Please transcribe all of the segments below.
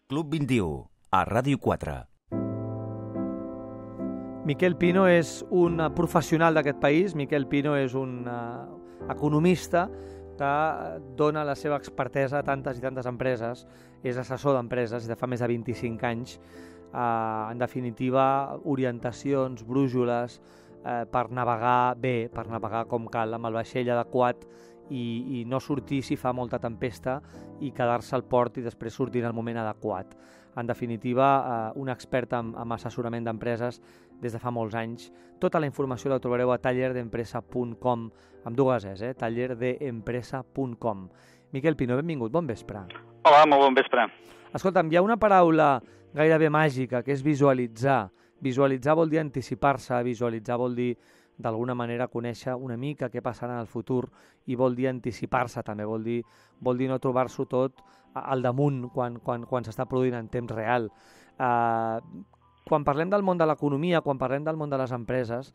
Club 21, a Ràdio 4. Miquel Pino és un professional d'aquest país. Miquel Pino és un economista que dona la seva expertesa a tantes i tantes empreses. És assessor d'empreses de fa més de 25 anys. En definitiva, orientacions, brúixoles per navegar bé, per navegar com cal, amb el vaixell adequat i no sortir si fa molta tempesta i quedar-se al port i després sortir en el moment adequat. En definitiva, un expert en assessorament d'empreses des de fa molts anys. Tota la informació la trobareu a tallerdeempresa.com, amb dues es, tallerdeempresa.com. Miquel Pino, benvingut, bon vespre. Hola, molt bon vespre. Escolta'm, hi ha una paraula gairebé màgica, que és visualitzar. Visualitzar vol dir anticipar-se, visualitzar vol dir d'alguna manera conèixer una mica què passarà en el futur i vol dir anticipar-se també, vol dir no trobar-s'ho tot al damunt quan s'està produint en temps real. Quan parlem del món de l'economia, quan parlem del món de les empreses,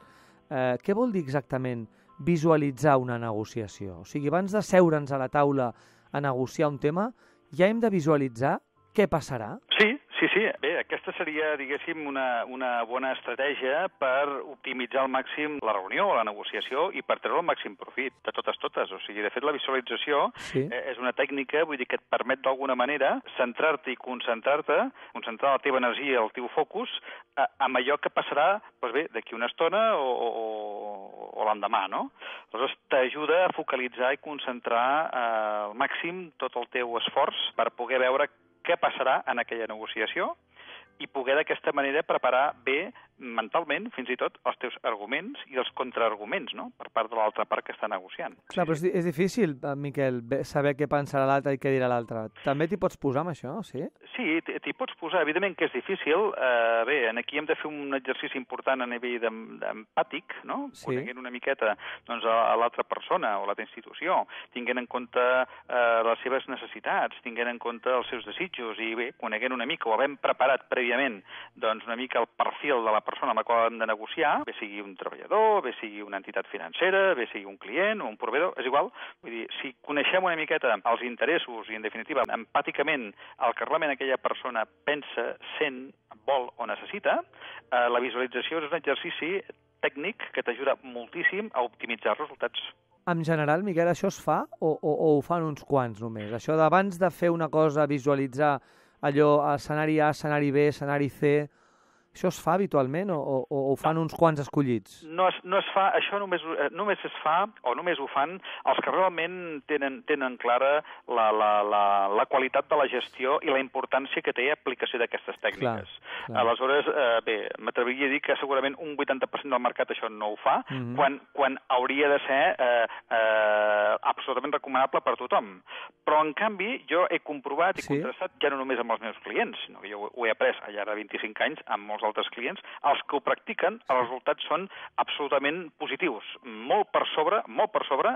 què vol dir exactament visualitzar una negociació? O sigui, abans de seure'ns a la taula a negociar un tema, ja hem de visualitzar què passarà? Sí. Bé, aquesta seria, diguéssim, una bona estratègia per optimitzar al màxim la reunió o la negociació i per treure el màxim profit de totes. O sigui, de fet, la visualització és una tècnica, vull dir, que et permet d'alguna manera centrar-te i concentrar la teva energia, el teu focus, amb allò que passarà, doncs bé, d'aquí una estona o l'endemà, no? Aleshores, t'ajuda a focalitzar i concentrar al màxim tot el teu esforç per poder veure què passarà en aquella negociació i poder d'aquesta manera preparar bé mentalment, fins i tot, els teus arguments i els contraarguments, no?, per part de l'altra part que està negociant. Clar, però és difícil, Miquel, saber què pensarà l'altre i què dirà l'altre. També t'hi pots posar amb això, sí? Sí, t'hi pots posar. Evidentment que és difícil. Bé, aquí hem de fer un exercici important a nivell empàtic, no?, coneguent una miqueta doncs, a l'altra persona o l'altra institució, tinguent en compte les seves necessitats, tinguent en compte els seus desitjos i bé, coneguent una mica o havent preparat prèviament doncs, una mica el perfil de la persona amb la qual hem de negociar, bé sigui un treballador, bé sigui una entitat financera, bé sigui un client o un proveïdor, és igual. Vull dir, si coneixem una miqueta els interessos i, en definitiva, empàticament el que realment aquella persona pensa, sent, vol o necessita, la visualització és un exercici tècnic que t'ajuda moltíssim a optimitzar els resultats. En general, Miquel, això es fa o ho fan uns quants només? Això d'abans de fer una cosa, visualitzar allò, escenari A, escenari B, escenari C, això es fa habitualment o ho fan uns quants escollits? No es fa, això només es fa o només ho fan els que realment tenen clara la qualitat de la gestió i la importància que té aplicació d'aquestes tècniques. Clar. Aleshores, bé, m'atreviria a dir que segurament un 80% del mercat això no ho fa, quan hauria de ser absolutament recomanable per tothom. Però, en canvi, jo he comprovat i contrastat ja no només amb els meus clients, sinó que jo ho he après al llarg de 25 anys amb molts altres clients, els que ho practiquen, els resultats són absolutament positius, molt per sobre,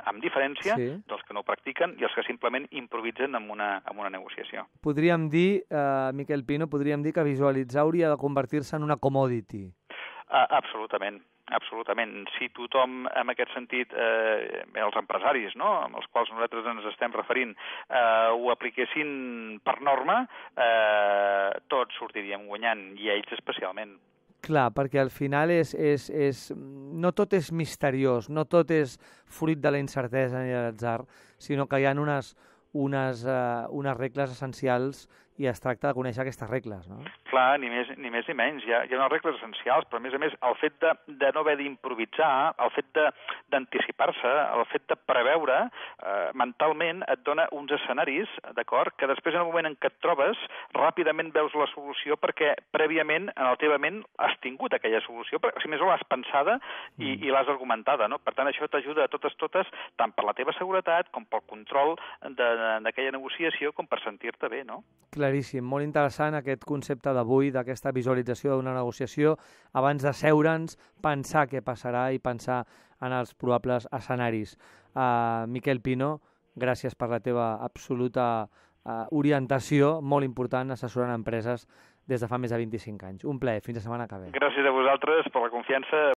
amb diferència dels que no ho practiquen i els que simplement improvisen amb una negociació. Podríem dir, Miquel Pino, que visualitzar hauria de convertir-se en una commodity. Absolutament. Si tothom, en aquest sentit, els empresaris, no?, amb els quals nosaltres ens estem referint, ho apliquessin per norma, tots sortiríem guanyant, i ells especialment. Clar, perquè al final no tot és misteriós, no tot és fruit de la incertesa ni de l'atzar, sinó que hi ha unes regles essencials i es tracta de conèixer aquestes regles, no? Clar, ni més ni menys. Hi ha unes regles essencials, però a més, el fet de no haver d'improvisar, el fet d'anticipar-se, el fet de preveure, mentalment et dona uns escenaris, d'acord, que després en el moment en què et trobes, ràpidament veus la solució perquè prèviament en la teva ment has tingut aquella solució, si més o l'has pensada i l'has argumentada, no? Per tant, això t'ajuda a totes, tant per la teva seguretat com pel control d'aquella negociació com per sentir-te bé, no? Claríssim, molt interessant aquest concepte d'avui, d'aquesta visualització d'una negociació, abans de seure'ns, pensar què passarà i pensar en els probables escenaris. Miquel Pino, gràcies per la teva absoluta orientació, molt important, assessorant empreses des de fa més de 25 anys. Un plaer, fins la setmana que ve. Gràcies a vosaltres per la confiança.